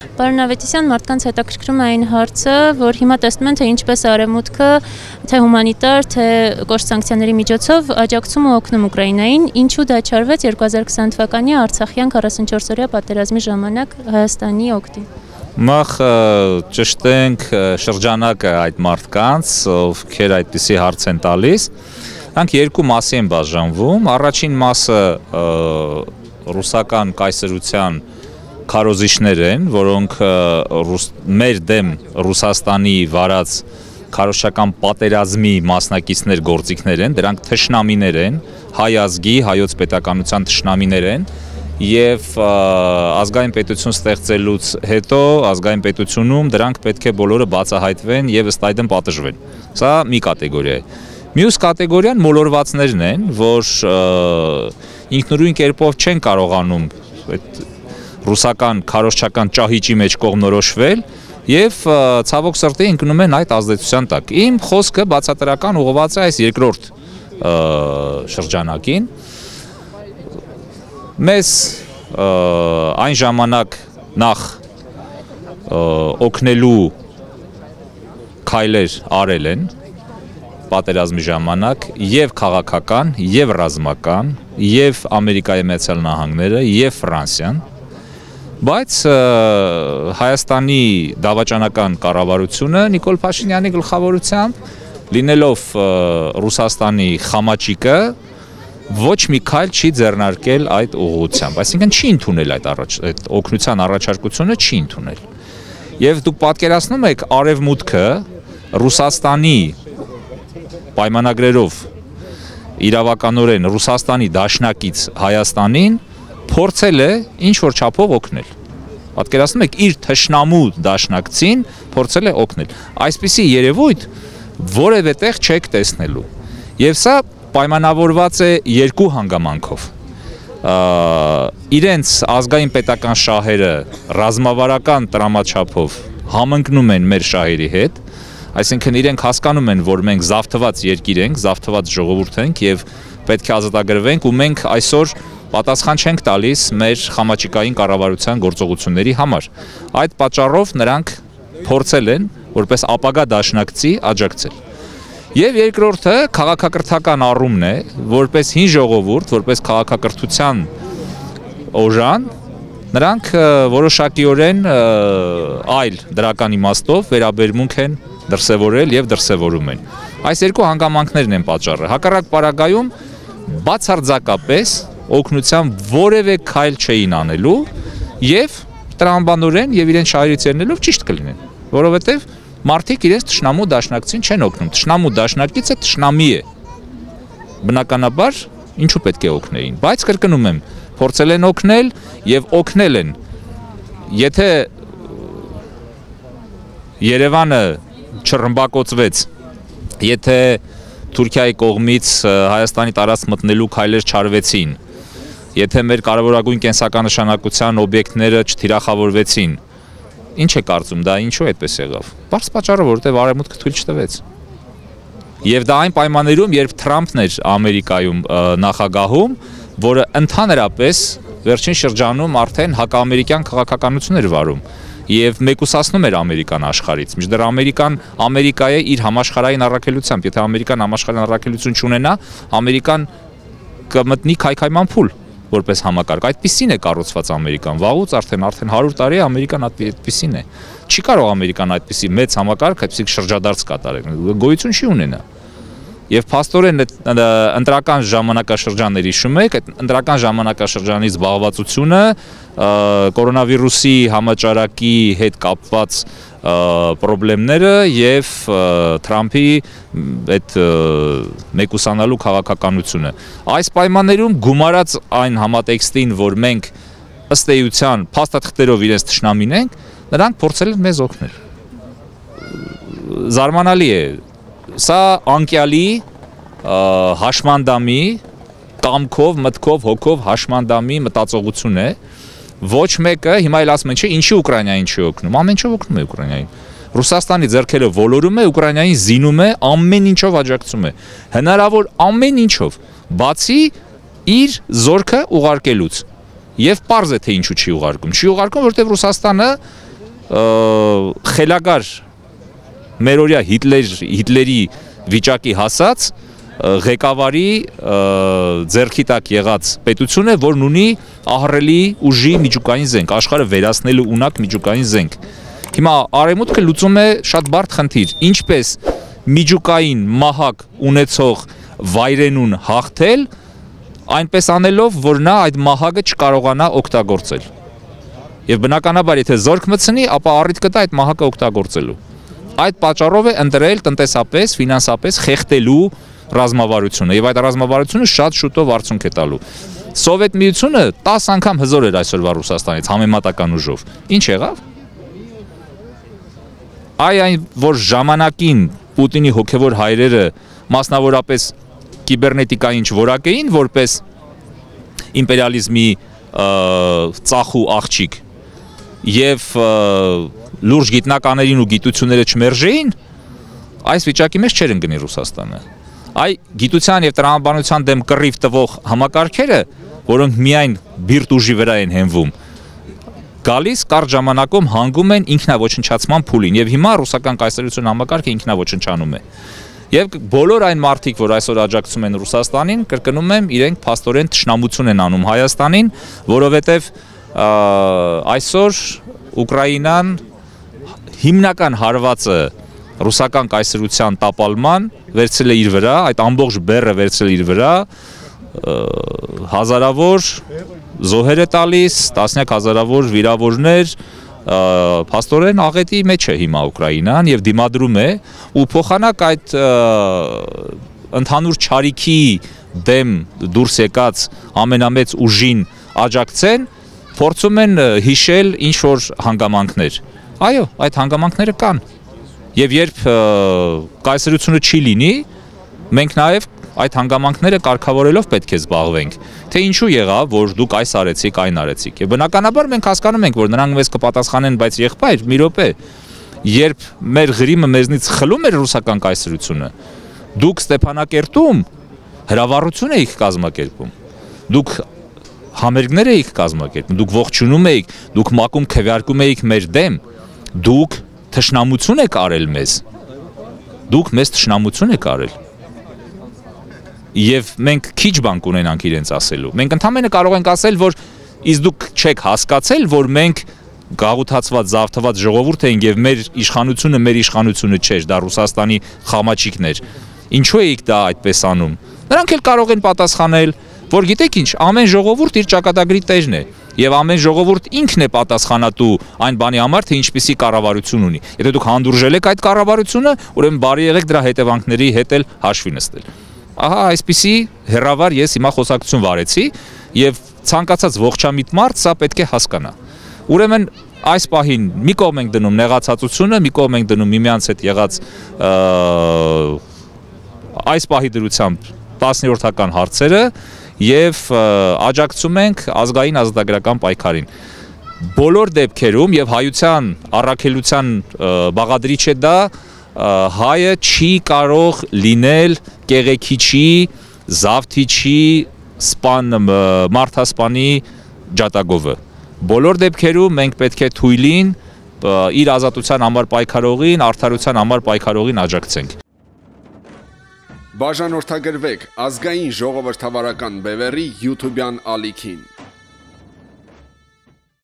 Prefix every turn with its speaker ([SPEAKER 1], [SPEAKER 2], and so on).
[SPEAKER 1] Պարոն Ավետիսյան, մարդկանց հետաքրքրում է այն հարցը, որ հիմա տեսնում են, թե ինչպես Արևմուտքը, թե հումանիտար, թե կոշտ սանկցիաների միջոցով աջակցում ու օգնում Ուկրաինային, ինչու դա չարվեց 2020 թվականի Արցախյան 44-օրյա պատերազմի ժամանակ Հայաստանի օգտին։
[SPEAKER 2] Նախ ճշտենք շրջանակը այդ մարդկանց, ովքեր այդպիսի հարց են տալիս, նրանք երկու մասի են բաժանվում, առաջին մասը ռուսական կայսրության քարոզիչներ են, որոնք մեր դեմ Ռուսաստանի վարած քարոզչական պատերազմի մասնակիցներ գործիքներ են, դրանք թշնամիներ են, հայ ազգի, հայոց պետականության թշնամիներ են եւ ազգային պետություն ստեղծելուց հետո ազգային պետությունում դրանք պետք է բոլորը բացահայտվեն եւ ըստ այդմ պատժվեն։ Սա մի կատեգորիա է։ Մյուս կատեգորիան մոլորվածներն են, որ ինքնուրույն կերպով չեն կարողանում այդ ռուսական քարոզչական ճահիճի մեջ կողմնորոշվել եւ ցավոք սրտի ընկնում են այդ ազդեցության տակ։ Իմ խոսքը բացատրական ուղղված է այս երկրորդ շրջանակին։ Մեզ այն ժամանակ նախ օգնելու քայլեր արել են պատերազմի ժամանակ եւ քաղաքական, եւ ռազմական, եւ Ամերիկայի Միացյալ Նահանգները, եւ Ֆրանսիան, բայց Հայաստանի դավաճանական կառավարությունը Նիկոլ Փաշինյանի գլխավորությամբ լինելով Ռուսաստանի խամաճիկը ոչ մի քայլ չի ձեռնարկել այդ ուղղությամբ, այսինքն չի ընդունել այդ օգնության առաջարկությունը չի ընդունել։ Եվ դուք պատկերացնում եք Արևմուտքը Ռուսաստանի պայմանագրերով իրավականորեն Ռուսաստանի դաշնակից Հայաստանին փորձել է ինչ-որ չափով օգնել։ Պատկերացնում եք իր թշնամու դաշնակցին փորձել է օգնել։ Այսպիսի երևույթ որևէ տեղ չեք տեսնելու։ Եվ սա պայմանավորված է երկու հանգամանքով։ Իրենց ազգային պետական շահերը ռազմավարական տրամաչափով համընկնում են մեր շահերի հետ, այսինքն իրենք հասկանում են, որ մենք զավթված երկիր ենք, զավթված ժողովուրդ ենք եւ պետք է ազատագրվենք ու մենք այսօր պատասխան չենք տալիս մեր խամաճիկային կառավարության գործողությունների համար։ Այդ պատճառով նրանք փորձել են որպես ապագա դաշնակցի աջակցել։ Եվ երկրորդը քաղաքակրթական առումն է, որպես հին ժողովուրդ, որպես քաղաքակրթության օժան, նրանք որոշակիորեն այլ դրական իմաստով վերաբերմունք են դրսևորել եւ դրսևորում են։ Այս երկու հանգամանքներն են պատճառը։ Հակառակ պարագայում բացարձակապես օգնության որևէ քայլ չէին անելու եւ տրամաբանորեն եւ իրեն շահերից ելնելով ճիշտ կլինեն, որովհետեւ մարդիկ իրենց թշնամու դաշնակցին չեն օգնում։ Թշնամու դաշնակիցը թշնամի է։ Բնականաբար ինչու պետք է օգնեին, բայց կրկնում եմ, փորձել են օգնել եւ օգնել են։ Եթե Երևանը չռմբակոծվեց, եթե Թուրքիայի կողմից Հայաստանի տարածք մտնելու քայլեր չարվեցին, եթե մեր կարևորագույն կենսականնշանակության օբյեկտները չթիրախավորվեցին, ինչ է կարծում, դա ինչու այդպես եղավ։ Բարձ պատճառը, որովհետև Արևմուտքը թույլ չտվեց։ Եվ դա այն պայմաններում, երբ Թրամփն էր Ամերիկայում նախագահում, որը ընդհանրապես վերջին շրջանում արդեն հակաամերիկյան քաղաքականություն էր վարում եւ մեկուսացնում էր Ամերիկան աշխարհից։ Մինչդեռ Ամերիկա է իր համաշխարհային առաքելությամբ, եթե Ամերիկան համաշխարհային առաքելություն չունենա, Ամերիկան կմտնի քայքայման փուլ որպես համակարգ։ Այդպիսին է կառուցված Ամերիկան։ Վաղուց արդեն 100 տարի Ամերիկան այդպիսին է։ Չի կարող Ամերիկան այդպիսի մեծ համակարգ, այդպիսի շրջադարձ կատարել։ Գոյություն չի ունենա։ Եվ փաստորեն ընտրական ժամանակաշրջաններ հիշում եք, այդ ընտրական ժամանակաշրջանի զբաղվածությունը կորոնավիրուսի համաճարակի հետ կապված պրոբլեմները եւ Թրամփի այդ մեկուսանալու քաղաքականությունը։ Այս պայմաններում գումարած այն համատեքստին, որ մենք ըստ էության փաստաթղթերով իրենց թշնամին ենք, նրանք փորձել են մեզ օգնել։ Զարմանալի է։ Սա անկյալի հաշմանդամի կամքով, մտքով, հոգով հաշմանդամի մտածողություն է։ Ոչ մեկը հիմա էլ ասում են, չէ, ինչի Ուկրաինային չի օգնում։ Ամեն ինչով օգնում է Ուկրաինային։ Ռուսաստանի ձեռքերը ոլորում է, Ուկրաինային զինում է, ամեն ինչով աջակցում է։ Հնարավոր ամեն ինչով, բացի իր զորքը ուղարկելուց։ Եվ պարզ է թե ինչու չի ուղարկում։ Չի ուղարկում, որովհետև Ռուսաստանը խելագար մերօրյա Հիտլերի վիճակի հասած ղեկավարի ձեռքի տակ եղած պետություն է, որն ունի ահռելի ուժի միջուկային զենք, աշխարհը վերացնելու ունակ միջուկային զենք։ Հիմա Արևմուտքը լուծում է շատ բարդ խնդիր, ինչպես միջուկային մահակ ունեցող վայրենուն հաղթել, այնպես անելով, որ նա այդ մահակը չկարողանա օգտագործել։ Եվ բնականաբար, եթե զորք մտցնի, ապա առիթ կտա այդ մահակը օգտագործելու։ Այդ պատճառով է ընտրել տնտեսապես, ֆինանսապես խեղդելու ռազմավարությունը, եւ այդ ռազմավարությունը շատ շուտով արդյունք է տալու։ Սովետ միությունը 10 անգամ հզոր էր այսօրվա Ռուսաստանից համեմատական ուժով։ Ինչ եղավ։ Այն, որ ժամանակին Պուտինի հոգևոր հայրերը մասնավորապես կիբերնետիկային որակ էին, որպես իմպերիալիզմի ծախու աղջիկ եւ լուրջ գիտնականերին ու գիտությունները չմերժեին, այս վիճակի մեջ չէր ընկնի Ռուսաստանը։ Այ գիտության եւ տրամաբանության դեմ կռիվ տվող համակարգերը, որոնք միայն բիրտ ուժի վրա են հենվում, գալիս կարճ ժամանակում հանգում են ինքնաոչնչացման փուլին եւ հիմա ռուսական կայսրության համակարգը ինքնաոչնչանում է։ Եվ բոլոր այն մարդիկ, որ այսօր աջակցում են Ռուսաստանին, կրկնում եմ, իրենք փաստորեն թշնամություն են անում Հայաստանին, որովհետեւ այսօր Ուկրաինան հիմնական հարվածը ռուսական կայսրության տապալման վերցրել է իր վրա, այդ ամբողջ բեռը վերցրել իր վրա, հազարավոր զոհեր է տալիս, տասնյակ հազարավոր վիրավորներ, փաստորեն աղետի մեջ է հիմա Ուկրաինան եւ դիմադրում է ու փոխանակ այդ ընդհանուր չարիքի դեմ դուրս եկած ամենամեծ ուժին աջակցեն, փորձում են հիշել ինչ որ հանգամանքներ։ Այո, այդ հանգամանքները կան։ Եվ երբ կայսրությունը չի լինի, մենք նաև այդ հանգամանքները կարգավորելով պետք է զբաղվենք, թե ինչու եղավ, որ դուք այս արեցիք, այն արեցիք։ Եվ բնականաբար մենք հասկանում ենք, որ նրանք մեզ կպատասխանեն, բայց եղբայր, մի րոպե, երբ մեր գրիմը մեզնից խլում էր ռուսական կայսրությունը, դուք Ստեփանակերտում հրավառություն էիք կազմակերպում, դուք համերգներ էիք կազմակերպում, դուք ողջունում էիք, դուք մակում քվեարկում էիք մեր դեմ, դուք թշնամություն եք արել մեզ, դուք մեզ թշնամություն եք արել։ Եվ մենք քիչ բան կունենանք իրենց ասելու։ Մենք ընդհանրապես կարող ենք ասել, որ իսկ դուք չեք հասկացել, որ մենք գաղութացված, զավթված ժողովուրդ էինք եւ մեր իշխանությունը չէր, դա Ռուսաստանի խամաչիկն էր։ Ինչու էիք դա այդպես անում։ Նրանք էլ կարող են պատասխանել, որ գիտեք ինչ, ամեն ժողովուրդ իր ճակատագրի տերն է եւ ամեն ժողովուրդ ինքն է պատասխանատու այն բանի համար, թե ինչպիսի կառավարություն ունի։ Եթե դուք հանդուրժել եք այդ կառավարությունը, ուրեմն բարի եղեք դրա հետևանքների հետ էլ հաշվի նստել։ Ահա այսպիսի հերավար ես հիմա խոսակցություն վարեցի եւ ցանկացած ողջամիտ մարդ սա պետք է հասկանա։ Ուրեմն այս պահին մի կողմ ենք դնում նեղացածությունը, մի կողմ ենք դնում միմյանց հետ եղած այս պահի դրությամբ 10-րդական հարցերը եւ աջակցում ենք ազգային ազատագրական պայքարին։ Բոլոր դեպքերում եւ հայության առաքելության բաղադրիչ է դա, հայը չի կարող լինել կեղեքիչի, զավթիչի, մարդասպանի ջատագովը։ Բոլոր դեպքերում մենք պետք է թույլին իր ազատության համար պայքարողին, արդարության համար պայքարողին աջակցենք։
[SPEAKER 3] Բաժանորդագրվեք ազգային ժողովրդավարական բևեռի YouTube-յան ալիքին։